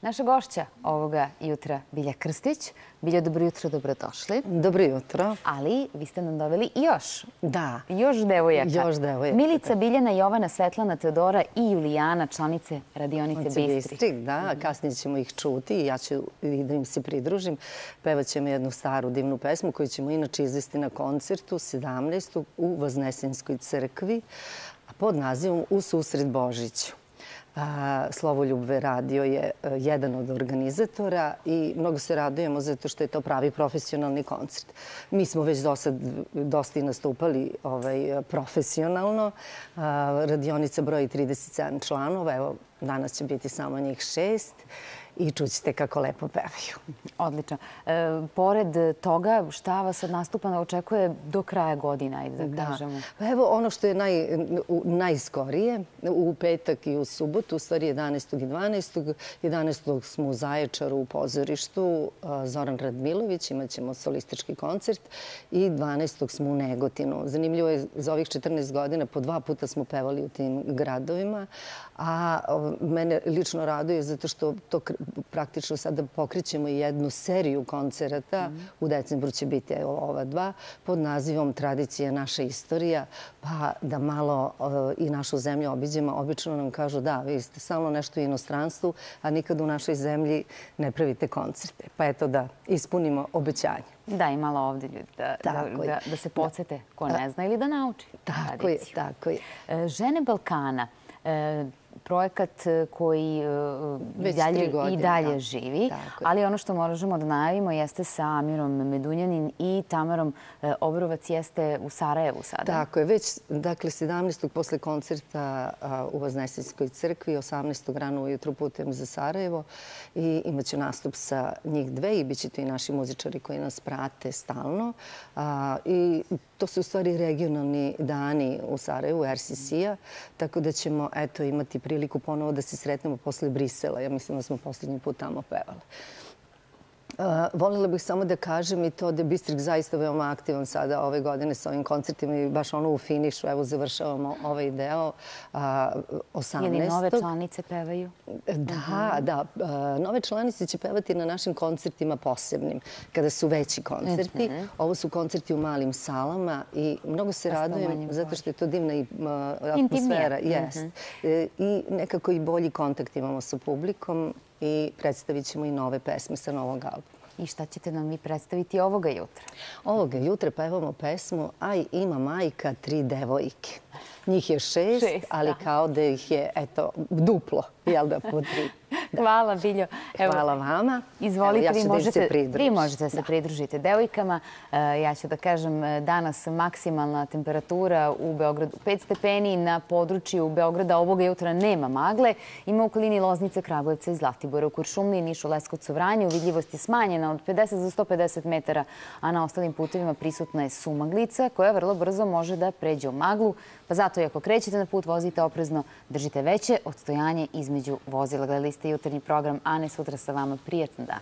Naša gošća ovoga jutra, Bilja Krstić. Bilja, dobro jutro, dobrodošli. Dobro jutro. Ali vi ste nam doveli još. Da. Još devojaka. Još devojaka. Milica, Biljana, Jovana, Svetlana, Teodora i Julijana, članice radionice Bistri. Da, kasnije ćemo ih čuti i ja ću i da im se pridružim. Pevat ćemo jednu staru divnu pesmu koju ćemo inače izvesti na koncertu 17. u Voznesenskoj crkvi pod nazivom U susret Božiću. Slovoljub radio je jedan od organizatora i mnogo se radujemo zato što je to pravi profesionalni koncert. Mi smo već dosta i nastupali profesionalno. Radionica broji 37 članova, evo danas će biti samo njih 6 i čućete kako lepo pevaju. Odlično. Pored toga, šta vas od nastupa očekuje do kraja godina, ajde da kažemo? Evo ono što je najskorije, u petak i u subotu, u stvari 11. i 12. 11. smo u Zaječaru u pozorištu, Zoran Radmilović, imat ćemo solistički koncert i 12. smo u Negotinu. Zanimljivo je, za ovih 14 godina po 2 puta smo pevali u tim gradovima, a mene lično raduje zato što to praktično sada pokrećemo jednu seriju koncerata. U decembru će biti ova 2 pod nazivom Tradicija naša istorija, pa da malo i našu zemlju obiđemo. Obično nam kažu da, vi ste stalno nešto u inostranstvu, a nikad u našoj zemlji ne pravite koncerte. Pa eto da ispunimo obećanje. Da, i malo ovdje ljudi da se podsjete ko ne zna ili da nauči tradiciju. Tako je. Žene Balkana, projekat koji i dalje živi, ali ono što možemo da najavimo jeste sa Amirom Medunjanin i Tamarom Obrovac jeste u Sarajevu sada. Tako je, već dakle 17. posle koncerta u Voznesenskoj crkvi, 18. rano ujutru putujem za Sarajevo i imat ću nastup sa njih 2 i bit će tu i naši muzičari koji nas prate stalno. I to su u stvari regionalni dani u Sarajevu, RCC-a, tako da ćemo imati priliku ponovo da se sretnemo posle Brisela. Ja mislim da smo posljednji put tamo pevali. Voljela bih samo da kažem i to da je Bistrik zaista veoma aktivan sada ove godine sa ovim koncertima i baš ono u finišu. Evo, završavamo ovaj deo 18. Ili nove članice pevaju? Da. Nove članice će pevati na našim koncertima posebnim, kada su veći koncerti. Ovo su koncerti u malim salama i mnogo se radujem zato što je to divna atmosfera. I nekako i bolji kontakt imamo sa publikom. I predstavit ćemo i nove pesme sa novog albuma. I šta ćete nam vi predstaviti ovoga jutra? Ovoga jutra pevamo pesmu Aj, ima majka 3 devojke. Njih je 6, ali kao da ih je, duplo, jel da, po 3. Hvala, Biljo. Hvala vama. Izvolite, vi možete se pridružiti devojkama. Ja ću da kažem, danas maksimalna temperatura u Beogradu 5 stepeni, na području Beograda ovoga jutra nema magle. Ima u okolini Loznice, Kragujevca i Zlatibora, u Kuršumliji, Nišu, Leskovcu, Vranju. Vidljivost je smanjena od 50 do 150 metara, a na ostalim putevima prisutna je sumaglica koja vrlo brzo može da pređe u maglu. Pa zato i ako krećete na put, vozite oprezno, držite veće odstojanje između vozila. Gledali ste jutarnji program Ane, sutra sa vama. Prijatan dan.